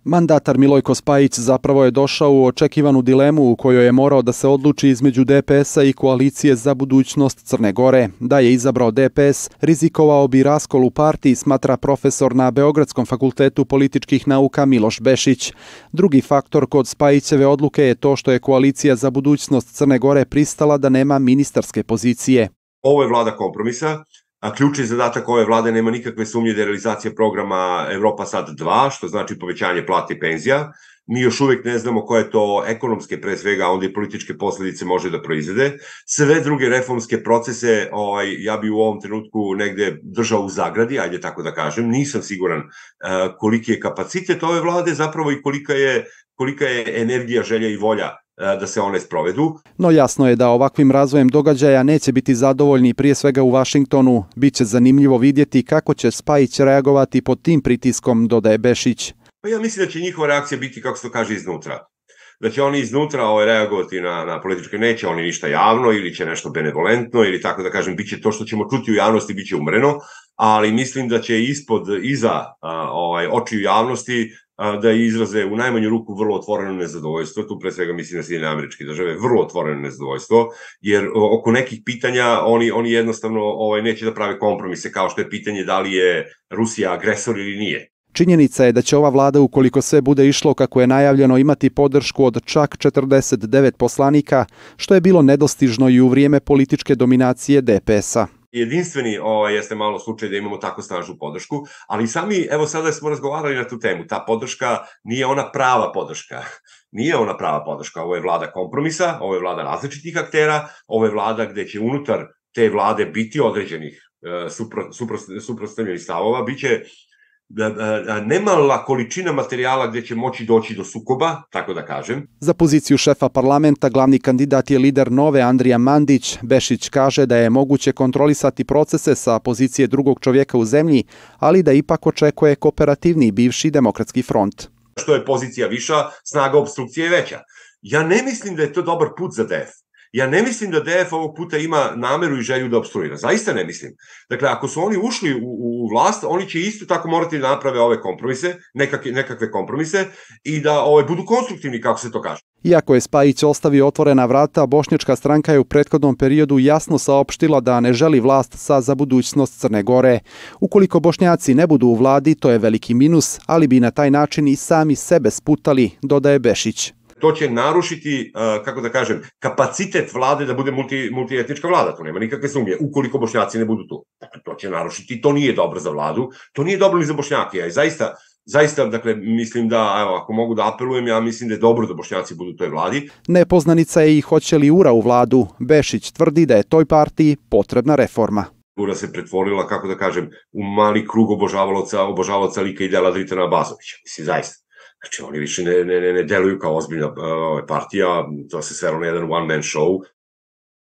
Mandatar Milojko Spajić zapravo je došao u očekivanu dilemu u kojoj je morao da se odluči između DPS-a i Koalicije za budućnost Crne Gore. Da je izabrao DPS, rizikovao bi raskol u partiji, smatra profesor na Beogradskom fakultetu političkih nauka Miloš Bešić. Drugi faktor kod Spajićeve odluke je to što je Koalicija za budućnost Crne Gore pristala da nema ministarske pozicije. Ovo je vlada kompromisa. A ključni zadatak ove vlade nema nikakve sumnje da je realizacija programa Evropa Sad 2, što znači povećanje plata i penzija. Mi još uvijek ne znamo koje to ekonomske, pre svega, a onda i političke posledice može da proizvede. Sve druge reformske procese ja bi u ovom trenutku negde držao u zagradi, ajde tako da kažem. Nisam siguran koliki je kapacitet ove vlade zapravo i kolika je energija, želja i volja da se one sprovedu. No jasno je da ovakvim razvojem događaja neće biti zadovoljni prije svega u Vašingtonu. Biće zanimljivo vidjeti kako će Spajić reagovati pod tim pritiskom, dodaje Bešić. Pa ja mislim da će njihova reakcija biti, kako se to kaže, iznutra. Da će oni iznutra reagovati na političke, neće oni ništa javno ili će nešto benevolentno ili tako da kažem, bit će to što ćemo čuti u javnosti, bit će umreno, ali mislim da će iza očiju javnosti da izraze u najmanju ruku vrlo otvoreno nezadovoljstvo, tu pre svega mislim na Sjedinjene Američke Države, vrlo otvoreno nezadovoljstvo, jer oko nekih pitanja oni jednostavno neće da prave kompromise, kao što je pitanje da li je Rusija agresor ili nije. Činjenica je da će ova vlada, ukoliko sve bude išlo kako je najavljeno, imati podršku od čak 49 poslanika, što je bilo nedostižno i u vrijeme političke dominacije DPS-a. Jedinstveni jeste malo slučaj da imamo tako snažnu podršku, ali sami, evo sada smo razgovarali na tu temu, ta podrška nije ona prava podrška. Nije ona prava podrška, ovo je vlada kompromisa, ovo je vlada različitih aktera, ovo je vlada gde će unutar te vlade biti određenih suprotstavljenih stavova, biće nemala količina materijala gdje će moći doći do sukoba, tako da kažem. Za poziciju šefa parlamenta glavni kandidat je lider Nove Andrija Mandić. Bešić kaže da je moguće kontrolisati procese sa pozicije drugog čovjeka u zemlji, ali da ipak očekuje kooperativni bivši Demokratski front. Što je pozicija viša, snaga opstrukcije je veća. Ja ne mislim da je to dobar put za DF. Ja ne mislim da DF ovog puta ima nameru i želju da opstruira. Zaista ne mislim. Dakle, ako su oni ušli u vlast, oni će isto tako morati da naprave ove kompromise, nekakve kompromise i da budu konstruktivni, kako se to kaže. Iako je Spajić ostavio otvorena vrata, Bošnjačka stranka je u prethodnom periodu jasno saopštila da ne želi vlast za budućnost Crne Gore. Ukoliko Bošnjaci ne budu u vladi, to je veliki minus, ali bi na taj način i sami sebe sputali, dodaje Bešić. To će narušiti, kako da kažem, kapacitet vlade da bude multietnička vlada, to nema nikakve sumnje, ukoliko Bošnjaci ne budu tu. Dakle, to će narušiti, to nije dobro za vladu, to nije dobro ni za Bošnjake. Ja zaista, dakle, mislim da, evo, ako mogu da apelujem, ja mislim da je dobro da Bošnjaci budu u toj vladi. Nepoznanica je i hoće li URA u vladu. Bešić tvrdi da je toj partiji potrebna reforma. URA se pretvorila, kako da kažem, u mali krug obožavalaca lika i dela Dritana Abazovića. Mislim, zaista. Znači, oni više ne deluju kao ozbiljna partija, to se svelo na jedan one-man show.